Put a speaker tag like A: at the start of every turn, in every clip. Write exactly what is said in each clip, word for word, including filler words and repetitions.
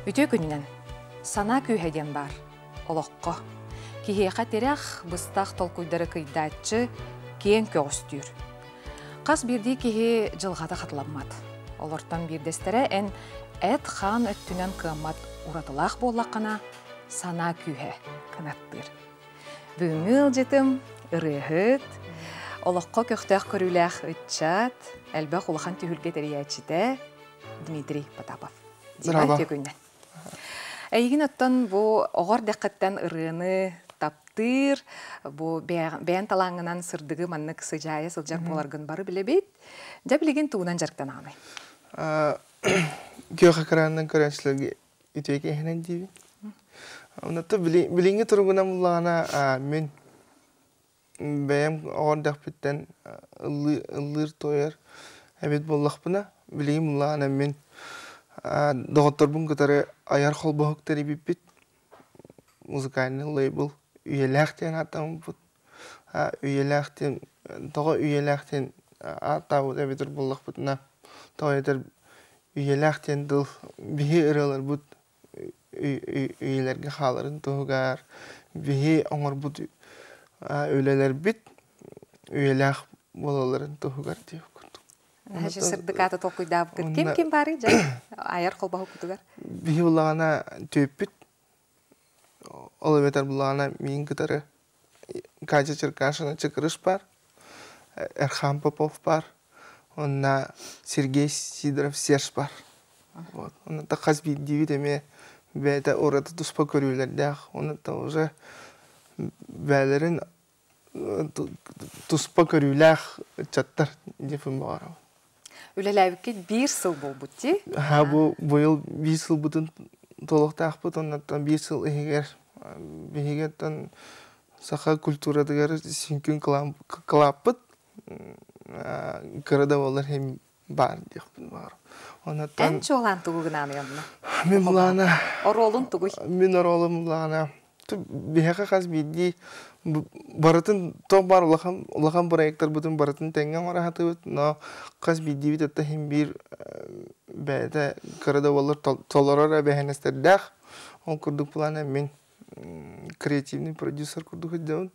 A: Үтүө күнүнэн. Санаа күүһэ диэн баар. Олоххо. Киһиэхэ тирэх, быстах толкуйдары кыйдааччы, киэҥ көҕүстүүр. Хас биирдии киһи дьылҕата хатыламмат. Олортон биирдэстэрэ эн эт-хаан өттүнэн кыаммат уратылаах буоллаххына, санаа күүһэ кынаттыыр. Бүгүҥҥү ыалдьытым ырыаһыт, олоххо көхтөөх көрүүлээх ыччат, элбэх улахан түһүлгэ тэрийээччитэ Дмитрий Потапов. Дима, үтүө күнүнэн. Эйигин оттон бу оҕо эрдэххиттэн ырыаны таптыыр, бу бэйэн талааҥҥынан сырдыгы маннык сыдьаайа сылдьар буоларгын бары билэбит. Дьэ билигин тугунан дьарыктанаҕыный?
B: Күөх экранынан көрөөччүлэргэ үтүө киэһэнэн диибин. Оннуттан билиҥҥи туругунан буллаҕына мин бэйэм оҕо эрдэхпиттэн ыллыыр туойар эбит буоллахпына, билигин буллаҕына мин доҕотторбун кытары айар холбоһук тэрийбиппит, музыкальный лейбл «Үйэлээх» диэн ааттаммыппыт. Үйэлээх диэн, тоҕо үйэлээх диэн ааттаабыт эбитэр буоллахпытына, тоҕо этэр үйэлээх диэн тыл биһи ырыаларбыт үйэлэргэ хааларын туһугар, биһи оҥорбут үлэлэрбит үйэлээх буолалларын туһугар диэх курдук.
A: Наһаа сырдык ааты толкуйдаабыккыт. Ким ким баарый дьэ айар холбоһуккутугар?
B: Биһи буллаҕына түөппүт, ол эбэтэр буллаҕына миин кытары Катя Черкашина Чыкырыш бар, Эрхан Попов бар, онна Сергей Сидоров Серж бар. Вот. Онно хас биирдиибит эмиэ бэйэтэ ураты туспа көрүүлэрдээх, онно уже бээлэрин туспа көрүүлээх ыччаттар диэппин баҕарабын.
A: Үлэлээбиккит биир сыл буолбут дии?
B: Ха, бу быйыл биир сылбытын толуктаахпыт, оннуттан биир сыл иһигэр биһигиттэн саха культуратыгар сүҥкүн кылааппыт кыра да буоллар иһин баар диэхпин баҕарабын. Оннуттан
A: Эн чуолаан тугу гынаный онно?
B: Мин булаана
A: Оруолун тугуй?
B: Мин оруолум булаана биһиэхэ хас биирдии барытын туох баар улахан улахан проекттарбытын барытын тэҥҥэ оҥоро сатыыбыт, но хас биирдиибит өттө иһин биир бэйэтэ кыра да буоллар толорор эбээһинэстэрдээх. Ол курдук плана мин креативный продюсер курдук сылдьабын.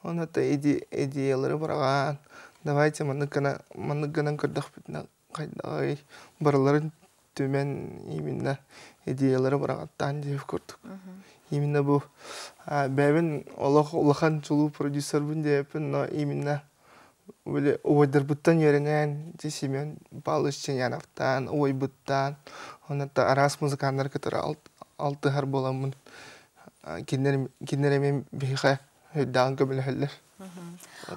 B: Онно идеялары быраҕаан, давайте маннык гына маннык гынан көрдөхпүтүнэ хайдаҕый, барыларын түмэн именно идеялары быраҕаттаан диэх курдук. Именно бу бэйэбин олох улахан чулуу продюсербын диэппин, но именно били убайдарбыттан үөрэнэн, Семен Павлович Ченяновтаан, убайбыттаан, онно араас музыканнар кытары алтыһар буоламмын, кинилэр кинилэр эмиэ биһиэхэ өйдөөн көмөлөһөллөр.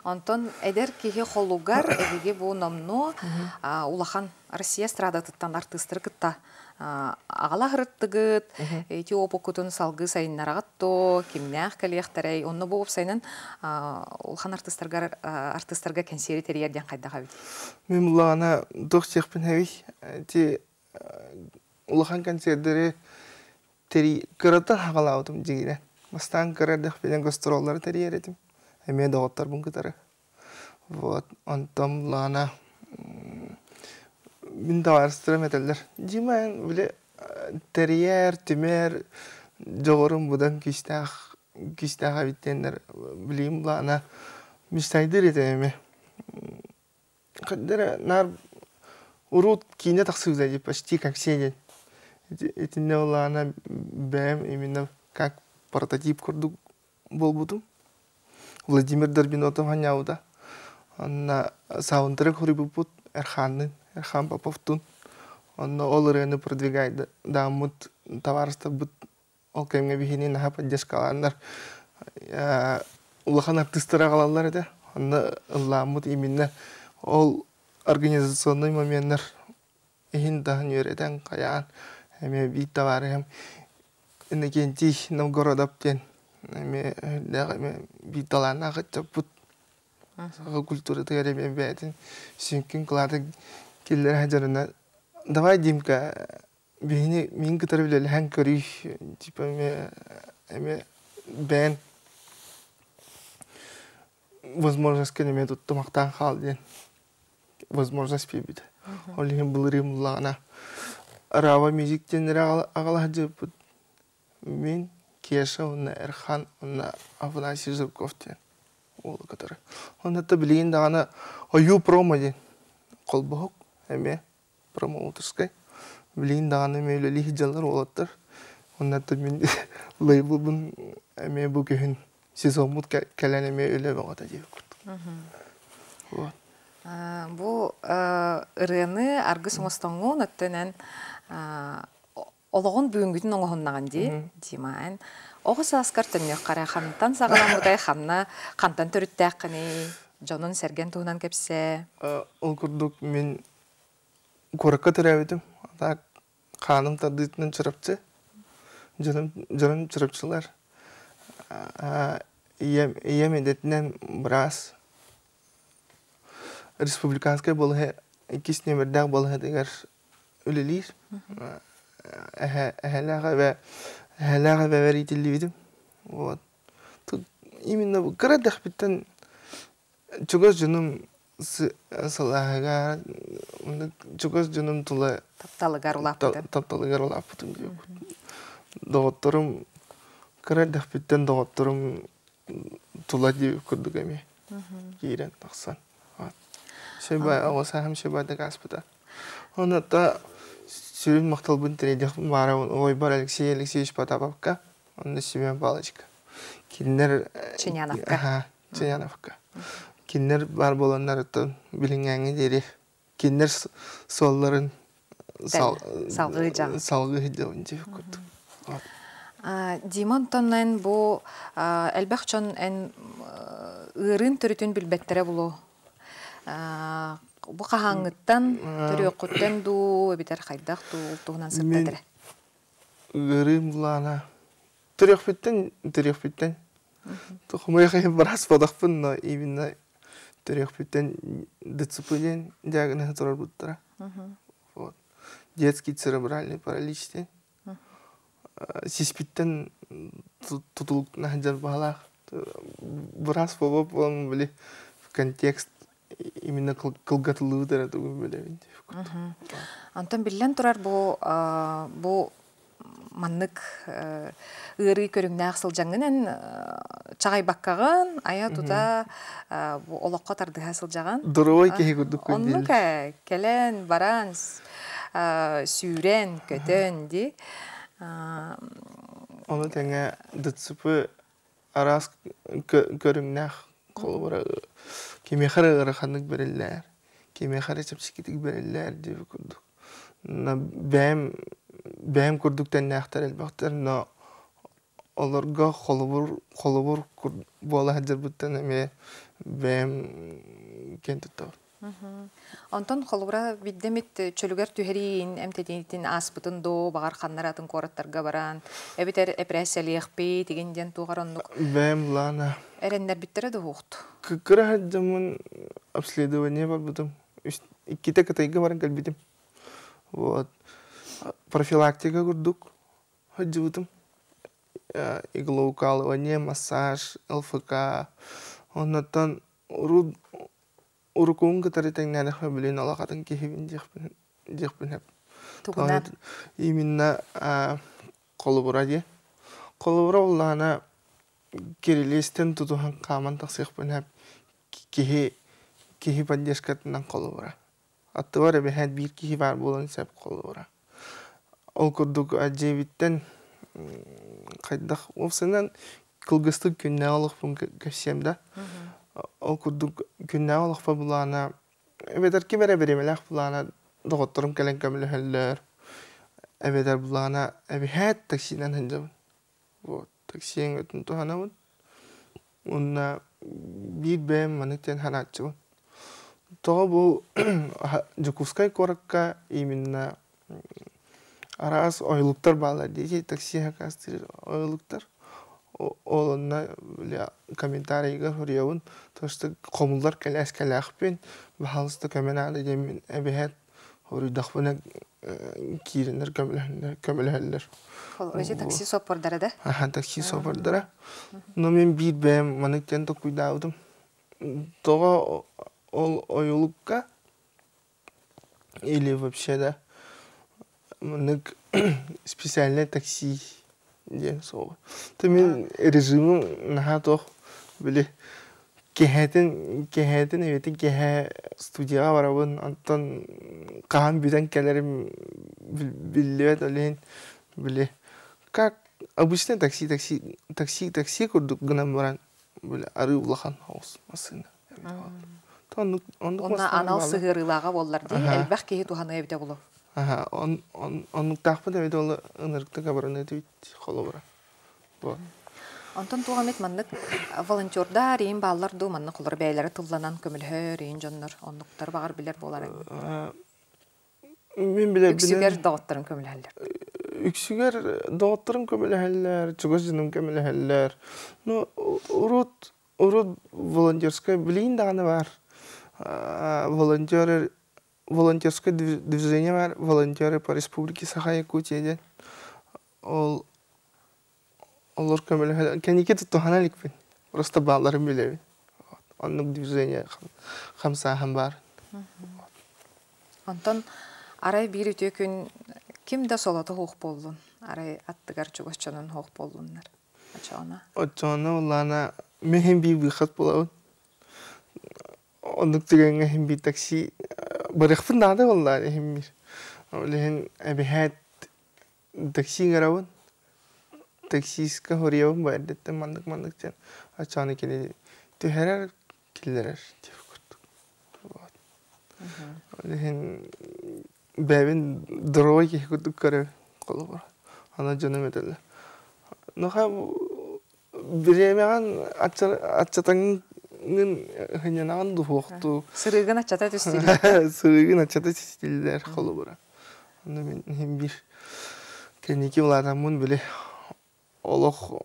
A: Онтон эдэр киһи холугар эһиги бу номнуо улахан Россия эстрадатыттан артыыстары кытта аҕала сырыттыгыт, ити опуккутун салгыы сайыннараҕыт то, кимнээх кэлиэхтэрэй, онно бу уопсайынан улахан артыыстарга артыыстарга кэнсиэри тэрийэр диэн хайдах эбит?
B: Мин буллаҕына туох диэхпин эбий, ити улахан концерттери тэрий кыраттан хаҕалаабытым дьиҥинэн. Бастаан кыра эрдэхпинэ гастроллары тэрийэр этим, эмиэ доҕотторбун кытары. Вот, онтон буллаҕына мин табаарыстарым этэллэр, Дима эн били тэрийэр, түмэр дьоҕурум быдан күүстээх күүстээх эбит диэннэр билигин буллаҕына мечтайдыыр этим эмиэ. Хайдах наар урут киинэ тахсыбыта дии, почти как все диэн. Итиннэ буллаҕына бэйэм именно как прототип курдук буолбутум. Владимир Дорбинотов анньаабыта. Онно саундтрек суруйбуппут Эрханныын, Эрхан Поповтуун. Онно ол ырыаны продвигайдааммыт табаарыстарбыт ол кэмҥэ биһини наһаа поддержкалааннар улахан артыыстары аҕалаллар этэ. Онно ыллааммыт именно ол организационный моменнар иһин таһын үөрэтэн хайаан эмиэ биир табаарыһым Иннокентий Новгородов диэн эмиэ эмиэ биир талааннаах ыччаппыт саха культуратыгар эмиэ бэйэтин сүҥкүн кылаатын киллэрэ сылдьарына давай, Димка, биһини миин кытары үлэлэһэн көрүй, типа эмиэ эмиэ бэйэн возможность эмиэ туттумахтаан хаал диэн возможность биэрбитэ. Ол иһин былырыын буллаҕына Рава Мюзик диэннэри аҕала сылдьыбыппыт. Мин, Кеша уонна Эрхан уонна Афанасий Жирков диэн уолу кытары. Онно билигин даҕаны Ойуу промо диэн холбоһук эмиэ промоутерскай. Билигин даҕаны эмиэ үлэлии сылдьаллар уолаттар. Онно мин лейблбын эмиэ бу күһүн сезоммут кэлэн эмиэ үлэ бөҕөтө диэбит курдук. Вот.
A: Бу ырыаны аргыс оҥостоҥҥун өттөнөн олоҕун бүгүҥҥүтүн оҥоһуннаҕын дии, Дима. Эн оҕо сааскар төннүөххэ хантан саҕаламмытай, ханна хантан төрүттээххиний, дьонун сэргэн туһунан кэпсээ.
B: Ол курдук мин куоракка төрөөбүтүм. Так хааным тардыытынан Чурапчы. Дьонум дьонум Чурапчылар. Ийэм ийэм идэтинэн быраас. Республиканскай балыыһа иккис нүөмэрдээх балыыһатыгар үлэлиир. Эһэлээх эбэ эһэлээх эбэбэр иитиллибитим. Вот. Тут именно кыра эрдэхпиттэн чугас дьонум сылааһыгар чугас дьонум тула
A: тапталыгар улааппытым.
B: Тапталыгар улааппытым диэбит. Доҕотторум кыра эрдэхпиттэн доҕотторум тула диэбит курдук эмиэ киирэн тахсан. Сөбө оҕо сааһым сөбөдүк ааспыта. Онно сүрүн махталбын тириэрдиэхпин баҕарабын убайбар Алексей Алексеевич Потаповка, онно Семен Павловичка. Кинилэр
A: Ченяновка.
B: Аха, Ченяновка. Кинилэр баар буоланнарыттан билиҥҥээҥҥэ диэри кинилэр суолларын
A: салгыы дьаҕын.
B: Салгыы сылдьабын диэбит курдук.
A: Дима, онтон эн бу элбэх дьон эн ыырын төрүтүн билбэттэрэ булу. Бу хаһааҥҥыттан төрүөххүттэн дуу, эбитэр хайдах дуу туһунан сырдатар.
B: Ыарыым булаана төрүөхпүттэн төрүөхпүттэн хомойуох иһин быраас буолахпын, но именно төрүөхпүттэн Д Ц П диэн диагноһы турарбыттара. Вот. Детский церебральный паралич диэн. Сиспиттэн тутулуктана сылдьар баһалаах. Быраас буолбат буолан били контекст именно кылгатыллыбыт эрэ тугун билэбин.
A: Онтон биллэн турар бу бу маннык ыарыы көрүҥнээх сылдьаҥҥын чаҕайбаккаҕын айа тута бу олоххо тардыһа сылдьаҕын.
B: Доруобай киһи курдук.
A: Оннук кэлэн баран сүүрэн көтөн ди.
B: Ону тэҥэ Д Ц П араас көрүҥнээх, холобура кимиэхэ эрэ ыараханнык бэриллээр, кимиэхэ эрэ чэпчэкитик бэриллээр диэбит курдук. Бэйэм бэйэм курдук тэннээхтэр элбэхтэр, но олорго холобур холобур буола сылдьарбыттан эмиэ бэйэм киэн туттабын.
A: Онтон холобура биддемит чөлүгэр түһэриин эмтэтиитин ааспытын доо баҕар ханнар атын куораттарга баран эбитер эпэрээссийэлиэхпит тигин диэн туоҕар оннук
B: Бэйэм лаана
A: эрэннэрбиттэрэ дуһуохту.
B: Кыра сылдьаммын обследование барбытым. Иккитэ Кытайга баран кэлбитим. Вот. Профилактика курдук сылдьыбытым. Иглоукалывание, массаж, Л Ф К. Оннуттан урут урукуун кытары тэҥнээтэхпинэ билин олох киһибин диэхпин диэхпин
A: Тугунан?
B: Именно холобура дии. Холобура улаана кирилиэстэн тутуһан хааман тахсыахпын киһи киһи поддержкатынан холобура. Аттыбар эбэһээт биир киһи баар буолан сөп холобура. Ол курдук дьиэбиттэн хайдах уопсайынан кылгастык күннээҕи олохпун кэпсиэм да. Ол курдук күннээҕи олохпор булаана эбэтэр ким эрэ бириэмэлээх булаана доҕотторум кэлэн көмөлөһөллөр. Эбэтэр булаана эбэһээт таксинан сылдьабын. Вот такси өҥөтүн туһанабын. Уонна биир бэйэм маннык диэн санааччыбын. Тоҕо бу Дьокуускай куоракка именно араас ойулуктар бааллар дии, такси заказтыыр ойулуктар. Ол онно комментарийга суруйабын, то что хомуллар кэлээскэлээхпин, баһаалыста көмө наада диэммин эбэһээт хоруйдахпына киирэннэр көмөлөһөллөр.
A: Өзү такси соппордара да?
B: Аха, такси соппордара. Но мин биир бэйэм маннык диэн толкуйдаабытым. Тоҕо ол ойулукка или вообще да Маннык специальное такси диэн суоҕа. То мин режимим наһаа туох били кэһээтин кэһээтин эбэтин кэһээ студияҕа барабын, онтон хаһан бүтэн кэлэрим биллибэт, ол иһин били как обычный такси такси такси такси курдук гынан баран били арыы улахан соҕус массыына. Оннук оннук
A: Онна
B: массыына
A: анал
B: баалар.
A: Сыһыарыылааҕа буоллар дии,
B: Аха.
A: элбэх киһи туһаныа эбитэ буолуо.
B: Аха, он он оннуктаахпын эбит ол ынырыктык абыраны холобура. Вот.
A: Онтон туох эмит маннык волонтердар иин бааллар дуу, маннык холор бэйэлэрэ тылланан көмөлөһөр иин дьоннор, оннуктар баҕар билэр буоларыҥ.
B: Мин
A: Үксүгэр
B: билэрбинэн
A: доҕотторун көмөлөһөллөр.
B: Үксүгэр доҕотторум көмөлөһөллөр, чугас дьонум көмөлөһөллөр. Ну, урут урут волонтерскай билигин даҕаны баар. Волонтеры волонтерское движение бар, волонтеры по Республике Саха-Якутия диэн. Ол олор көмөлөһө кэнники туһана иликпин. Просто бааларын билэбин. Оннук движение хамсааһын баар.
A: Онтон арай биир үтүө күн ким да солото суох буоллун, арай аттыгар чугас дьонун суох буоллуннар. Очоҕуна.
B: Оччоҕуна улаана мин биир выход булабын. Оннук түгэҥҥэ иһин биир такси барыахпын наада буоллаҕа иһин биир. Ол иһин эбиһээт такси ыҥырабын. Таксистка хоруйабын бу эрдэттэн маннык-маннык диэн оччоҕуна кини түһэрэр, киллэрэр диэбит курдук. Вот. Ол иһин бэйэбин здоровай киһи курдук көрөбүн холобура. Аны дьонум этэллэр. Нохаа бириэмэҕин аччатаҥҥын һынньанаҕын дуһуохтуу.
A: Сырыыгын аччата түстүлэр.
B: Сырыыгын аччата түстүлэр холобура. Онно мин иһин биир кэнники улаатаммын били олох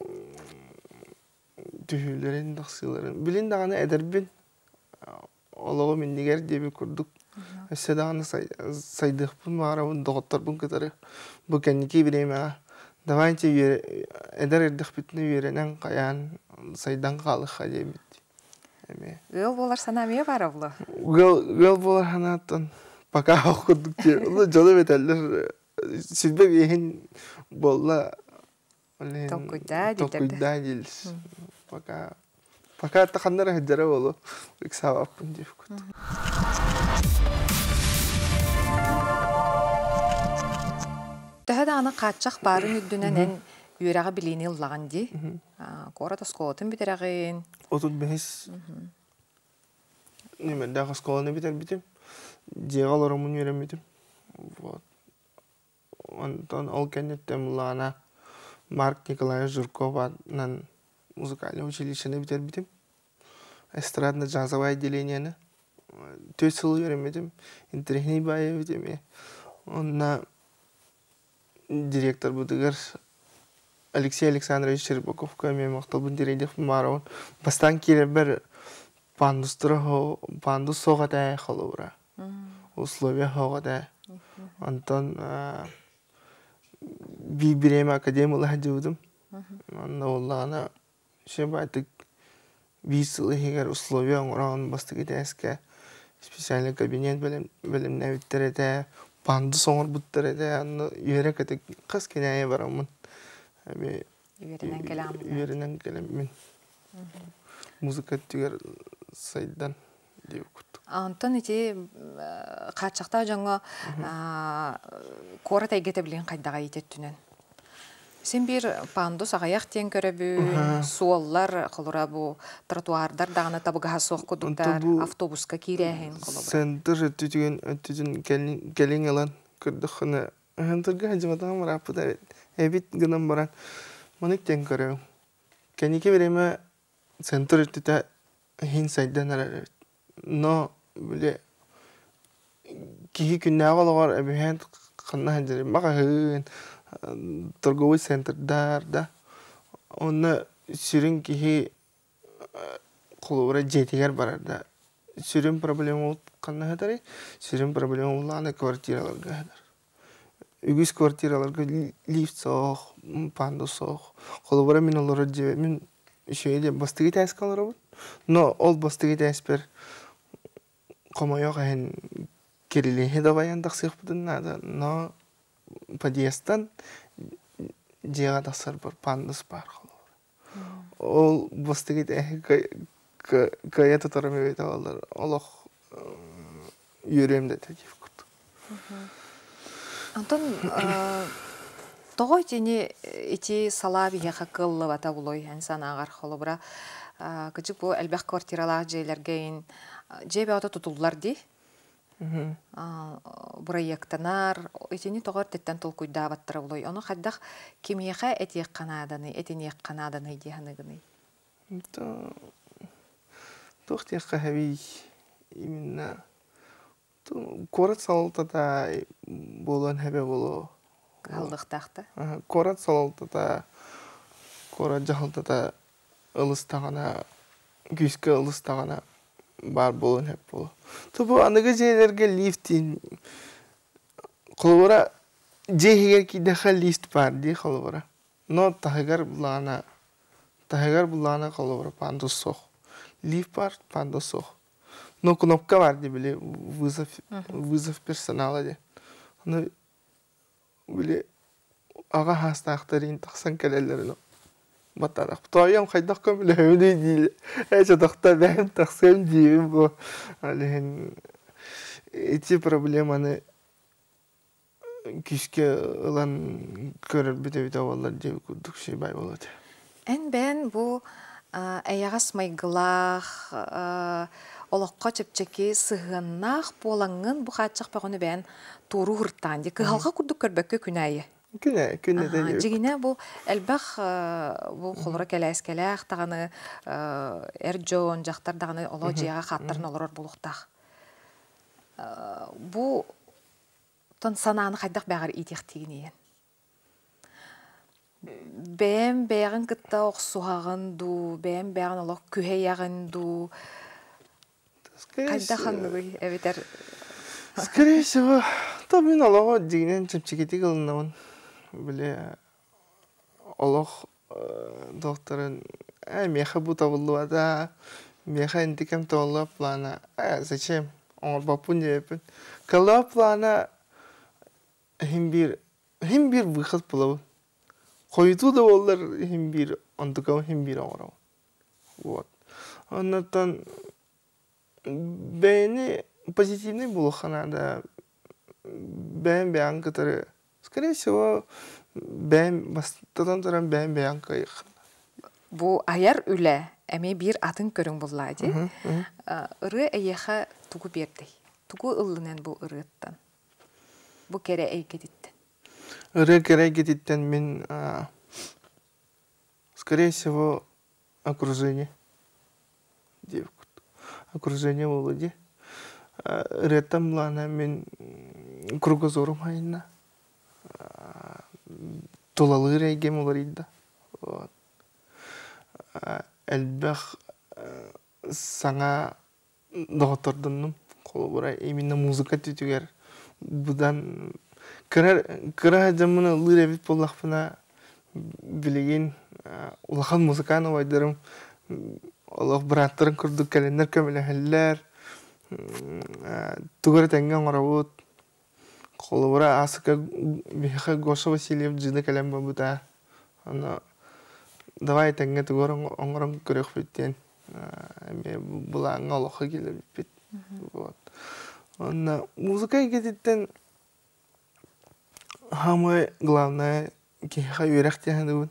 B: түһүүлэрин, тахсыыларын. Билин даҕаны эдэрбин, олоҕум иннигэр диэбит курдук өссө даҕаны сайдыахпын баҕарабын доҕотторбун кытары бу кэнники бириэмэҕэ давайте эдэр эрдэхпитинэ үөрэнэн хайаан сайдан хаалыахха диэбит эмиэ.
A: Ыал буолар санаа эмиэ баара буолуо.
B: Ыал ыал буолар санааттан пока ох курдук дьону этэллэр сүрбэ биэһин буолла
A: Толкуйдаа дииллэр.
B: Толкуйдаа дииллэр. Пока пока ханна эрэ сылдьара буолуо ыксаабаппын диэбит.
A: Төһө даҕаны хааччах баарын үрдүнэн эн үөрэҕи билиини ыллаҕын дии. Куорат оскуолатын бүтэрэҕин.
B: Отут бэһис нүмердээх оскуоланы бүтэрбитим. Дьиэҕэ олороммун үөрэммитим. Вот. Онтон ол кэнниттэн буллаҕына Марк Николаевич Жирков аатынан музыкальнай училищены бүтэрбитим. Эстрадно-джазовое отделениены. Түөрт сыл үөрэммитим. Интэриэһинэй баайа эбит эмиэ. Онно директорбытыгар Алексей Александрович Щербаковка эмиэ махталбын тириэрдиэхпин баҕарабын. Бастаан киирэрбэр пандустара пандус суох этэ холобура. Условия суох этэ. Онтон биир бириэмэ академия ыла сылдьыбытым. Онно буоллаҕына баайтык биир сыл иһигэр условия оҥорон бастакы этээскэ специальный кабинет бэлэмнээбиттэр этэ, пандус оҥорбуттар этэ, онно үөрэ-көтө хас күн бараммын эми
A: Үөрэнэн кэлэҕин.
B: Үөрэнэн кэлэммин музыка өттүгэр сайдан диэбит курдук.
A: Онтон ити хааччахтаах дьоҥҥо куорат эйгэтэ билигин хайдаҕа өттүнэн? Син биир пандус аҕыйах диэн көрөбүн, суоллар, холобура бу тротуардар даҕаны табыгаһа суох курдуктар, автобуска киирээһин холобура.
B: Центр өттүтүгэн өттүтүн кэлин ылан көрдөххүнэ центрга сылдьыбатаҕым ырааппыт эбит гынан баран маннык диэн көрөбүн. Кэнники бириэмэ центр өттүтэ иһин сайдан эрэр эбит. Но били киһи күннээҕи олоҕор эбиһээн ханна сылдьарый маҕаһыын, торговый центрдар да онно сүрүн киһи холобура дьиэтигэр барар да сүрүн проблема ханна сытарый? Сүрүн проблема улаана квартираларга сытар. Үгүс квартираларга лифт суох, пандус суох. Холобура мин олорор дьиэбэр мин үчүгэй диэн бастакы этээскэ олоробун. Но ол бастакы этээспэр хомойуох иһин кирилиэһи дабайан тахсыахпытын наада. Но Подъездтан дьиэҕэ тахсарбар пандус баар холобура. Ол бастакы кыайа тутарым эбитэ буоллар, олох үөрүөм да этэ диэх курдук.
A: Антон тоҕо итини ити салаа биһиэхэ кыаллыбата булуой эн санааҕар холобура кыдьык бу элбэх квартиралаах дьиэлэргэ ин дьиэ бөҕөтө тутуллар дии бырайыактанар итини тоҕо эрдэттэн толкуйдаабаттара булуой ону хайдах кимиэхэ этиэххэ нааданы этиниэххэ нааданы дии саныыгыный?
B: Туох диэххэ эбий именно куорат салалтата буолуон сөбө буолуо.
A: Кыһаллыахтаах да?
B: Куорат салалтата, куорат дьаһалтата ылыстаҕына, күүскэ ылыстаҕына баар буолуон сөп буолуо. Бу аныгы дьиэлэргэ лифтин холобура дьиэ иһигэр киирдэххэ лифт баар дии холобура. Но таһыгар булаана таһыгар булаана холобура пандус суох. Лифт баар, пандус суох. Но кнопка бар дии били вызов вызов персонала диэн. Ону били аҕа саастаахтар тахсан кэлэллэр баттаатах. Тоойуом хайдах көмөлөһөбүнүй диир. Ээ чотохто бэйэм тахсыам диибин бу. Ол иһин ити проблеманы күүскэ ылан көрөрбүт эбитэ буоллар диэбит курдук сибай буолуо этэ.
A: Эн бэйэн бу эйэҕэс майгылаах, олоххо чэпчэки сыһыаннаах буолаҥҥын бу хааччах бөҕөнү бэйэн туоруу һыртаан дии кыһалҕа курдук көрбөккө күн аайы.
B: Күнэ, күннэтэ
A: Дьигинэ бу элбэх бу холоро кэлээскэлээх даҕаны эр дьон, дьахтар даҕаны олоо дьиэҕэ хааттарын олорор буолуохтаах. Бу тон санааны хайдах бэҕэр иитиэхтиигиний? Бэйэм бэйэҕин кытта охсуһаҕын дуу, бэйэм бэйэҕин олох күһэйэҕин дуу, хайдах ханныгый эбэтэр
B: Скорее всего, то мин олоҕу дьиҥинэн чэпчэкитик ылынабын. Били олох докторын э миэхэ бу табыллыбата, миэхэ интикэм табыллыбат плана, э зачем оҥорбоппун диэбиппин. Кыллаах плана иһин биир иһин биир выход булабын. Хойутуу да буоллар иһин биир онтукабын иһин биир оҥоробун. Вот. Оннуттан бэйэни позитивный буолуохха наада. Бэйэм бэйэҥ кытары скорее всего бэйэм бастатан туран бэйэм бэйэҥ кыайыаххын.
A: Бу айар үлэ эмиэ биир атын көрүҥ буллаа дии. Ырыа эйиэхэ тугу биэрдэй? Тугу ыллын эн бу ырыаттан? Бу кэрэ эйгэтиттэн?
B: Ырыа кэрэ эйгэтиттэн мин скорее всего окружение диэбит окружение буолуо дии. Ырыаттан булаана мин кругозорум хайынна. Тулалыыр эйгэм уларыйда. Вот. Элбэх саҥа доҕоттордоннум. Холобура именно музыка өттүгэр быдан кыра кыра дьоммун ыллыыр эбит буоллахпына билигин улахан музыкант убайдарым олох бырааттарым курдук кэлэннэр көмөлөһөллөр. Тугу эрэ тэҥҥэ оҥоробут. Холобура аасыка биһиэхэ Гоша Васильев дьиэни кэлэн барбыта. Аны давай тэҥҥэ тугу эрэ оҥорон көрүөхпүт диэн эмиэ былааҥҥа олоххо киллэрбиппит. Вот. Онно музыка эйгэтиттэн самое главное киһиэхэ үөрэх диэн саныыбын.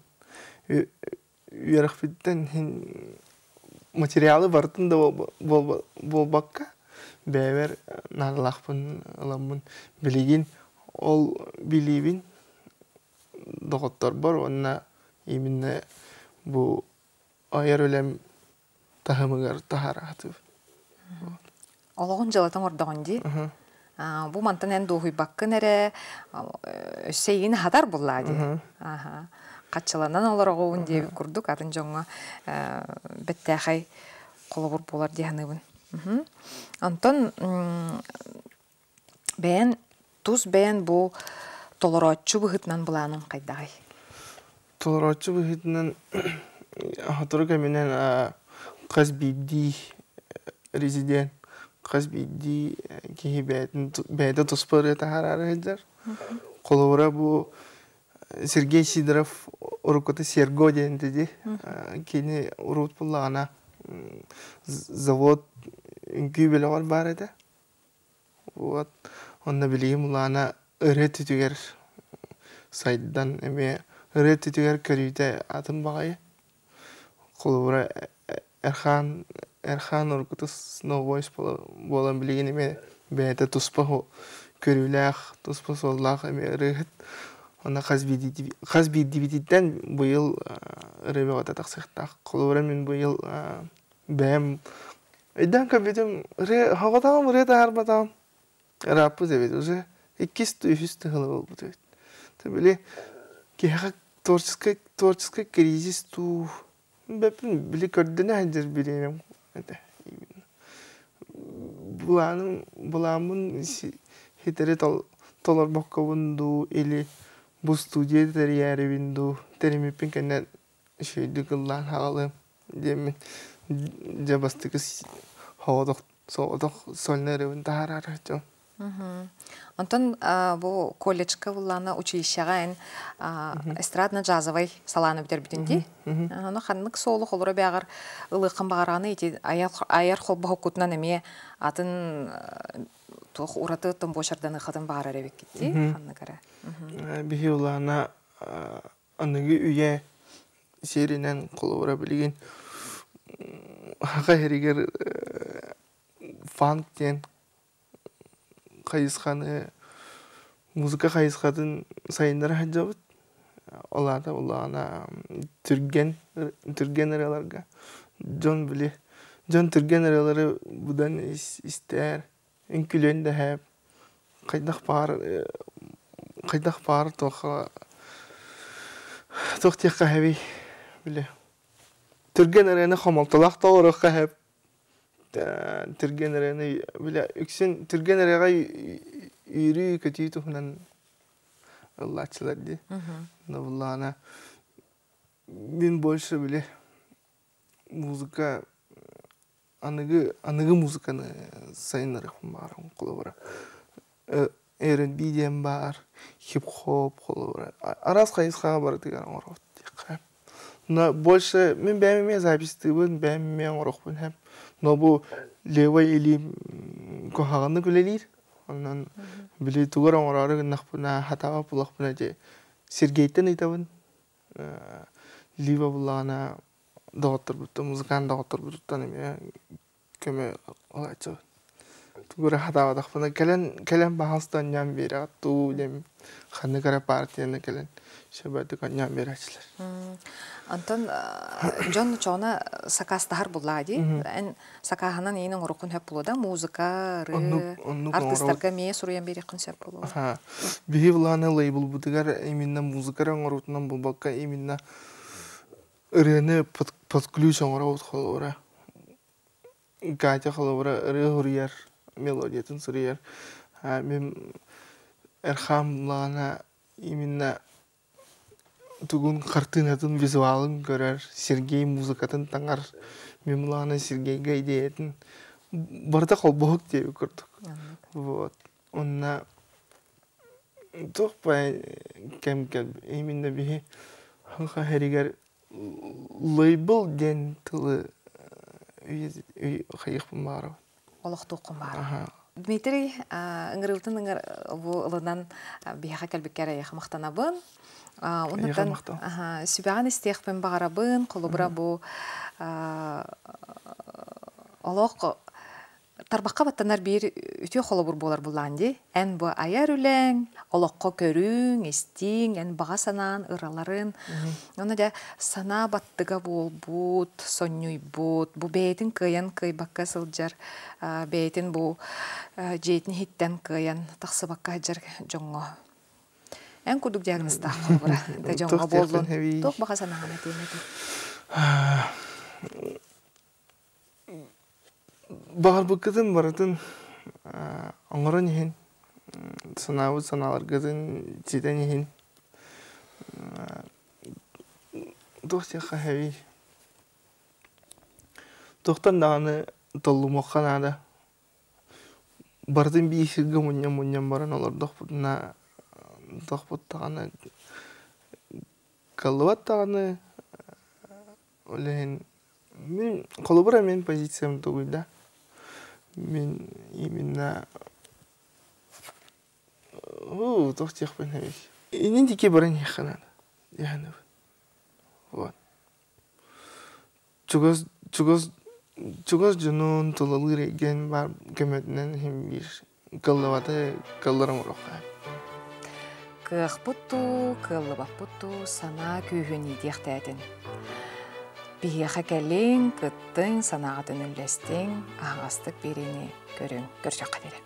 B: Үөрэхпиттэн иһин материалы барытын да буолбакка бэйэбэр наадалаахпын ыламмын билигин ол билиибин доҕотторбор уонна именно бу айар үлэм таһымыгар таһаараатыбын.
A: Олоҕун дьыалатын оҥордоҕун дии. Бу мантан эн дуоһуйбаккын эрэ өссө эйигин аһатар буоллаа дии. Хаччыланан олороҕун диэбит курдук атын дьоҥҥо бэттээхэй холобур буолар дии саныыбын. Онтон бэйэн тус бэйэн бу толорооччу быһыытынан былааныҥ хайдаҕый?
B: Толорооччу быһыытынан сотору кэминэн хас биирдии резидент, хас биирдии киһи бэйэтин бэйэтэ туспа ырыа таһаараары сылдьар. Холобура бу Сергей Сидоров уруккута Серго диэн диди. Кини урут буллаҕына завод үҥкүү бөлөҕөр баар этэ. Вот. Онно билигин булаана ырыа түтүгэр сайдан эмиэ ырыа түтүгэр көрүүтэ атын баҕайы. Холобура Эрхан Эрхан уруккута Snow Voice буолан билигин эмиэ бэйэтэ туспа көрүүлээх, туспа суоллаах эмиэ ырыаһыт. Онно хас биирдии хас биирдиибититтэн быйыл ырыа бөҕөтө тахсыахтаах. Холобура мин быйыл бэйэм өйдөөн көрбүтүм ырыа хоҕотоҕум ырыа таһаарбатаҕым ырааппыт эбит уже иккис үһүс тыһыла буолбут эбит. Били киһиэхэ творческий творческий кризис туу бэппин били көрдөнө сылдьар бириэмэм этэ. Былааным былааммын хитэри толорбоккобун дуу или бу студия тэрийээрибин дуу тэримиппин кэннэ үчүгэйдик ыллаан хаалыам диэммин дьэ бастакы соҕотох соҕотох сольно ырыабын таһаарар дьон.
A: Онтон бу колледжка буллаана училищеҕа эн эстрадно-джазовай салааны бүтэрбитин дии. Ону ханнык суолу холоро бэҕэр ылыаххын баҕараҕыный ити айар холбоһуккутунан эмиэ атын туох ураты томбуочарданыаххытын баҕарар эбиккит дии ханнык эрэ.
B: Биһи улаана аныгы үйэ сиэринэн холобура билигин хаха иһэригэр фанк диэн хайысханы музыка хайысхатын сайыннара сылдьабыт. Ол аата улаана түргэн түргэн ырыаларга дьон били дьон түргэн ырыалары будан истээр үҥкүлүөн дэһээп хайдах баар хайдах баар туохха туох диэххэ хэбий били түргэн ырыаны хомолтолоох толоруохха хэп түргэн ырыаны били үксүн түргэн ырыаҕа үөрүү көтүү туһунан ыллааччылар дии. Но буллаана мин больше били музыка аныгы аныгы музыканы сайыннарыахпын баҕарабын холобура эр энд би диэн баар, хип-хоп холобура араас хайысхаҕа барытыгар оҥоробут диэххэ. Но больше мин бэйэм эмиэ записьтыыбын, бэйэм эмиэ оҥоруохпун сөп. Но бу левай илиим куһаҕаннык үлэлиир. Онон били тугар оҥороору гыннахпына, хатаҕа булахпына дии Сергейтэн ыйтабын. Лива буллаҕына доҕотторбуттан, музыкант доҕотторбутуттан эмиэ көмө ылааччыбын. Тугу эрэ хатаабатахпына кэлэн кэлэн баһаалыста анньаан биэрэҕит дуу диэн ханнык эрэ партияны кэлэн сөбөтүк анньаан биэрээччилэр.
A: Онтон дьон чоҕуна сакаастаһар буллаа дии. Эн сакааһынан иин оҥоруккун сөп буолуо да музыка, ырыы, артыыстарга эмиэ суруйан биэриэххин сөп буолуо.
B: Биһи былааны лейблбытыгар именно музыка эрэ оҥоруутунан буолбакка именно ырыаны под, под ключ оҥоробут холобура. Катя холобура ырыа суруйар, мелодиятын суруйар. Мин Эрхам былаана именно тугун хартыынатын визуалын көрөр, Сергей музыкатын таҥар, мин былаана Сергейгэ идеятын барыта холбоһук диэби курдук. Вот. Онна туох кэм кэм именно биһи хаха хэригэр лейбл диэн тылы хайыахпын баарабын.
A: Олохтуоххун баарабын. Дмитрий, ыҥырыыбытын ыҥыр бу ылынан биһиэхэ кэлбиккэр эйиэхэ махтанабын. Оннуттан сүбэҕин истиэхпин баҕарабын. Холобура бу олох тарбахха баттанар биир үтүө холобур буолар буллаан дии. Эн бу айар үлэҥ, олоххо көрүҥ, истиҥ, эн баҕа санаан, ыраларын. Онно дьэ санаа баттыга буолбут, сонньуйбут, бу бэйэтин кыайан кыайбакка сылдьар, бэйэтин бу дьиэтин иһиттэн кыайан тахсыбакка сылдьар дьоҥҥо. Эн курдук диагнозтаах холобура да дьоҥҥо буоллун. Туох баҕа санааҕын этиэҥ этий?
B: Баҕарбыккытын барытын оҥорон иһин, санаабыт санааларгытын ситэн иһин туох диэххэ сөбүй? Туохтан даҕаны толлумуохха наада. Барытын биир сиргэ мунньан-мунньан баран олордохпутуна Тохпуттаҕына кыллыбат даҕаны ол иһин мин холобура мин позициям тугуйда мин именно уу туох диэхпин эбит иннин диэки баран иһиэххэ наада диэхэнэбин вот чугас чугас чугас дьонун тулалыыр эйгэн баар көмөтүнэн иһин биир кыллыбаты кылларым оҥоруохха.
A: Кыахпыт дуу, кыаллыбаппыт дуу санаа күүһүн иитиэхтээтин. Биһиэхэ кэлиҥ, кыттыҥ, санааҕытын үллэстиҥ, аһаҕастык биэриини көрүҥ, көрсөххө диэри.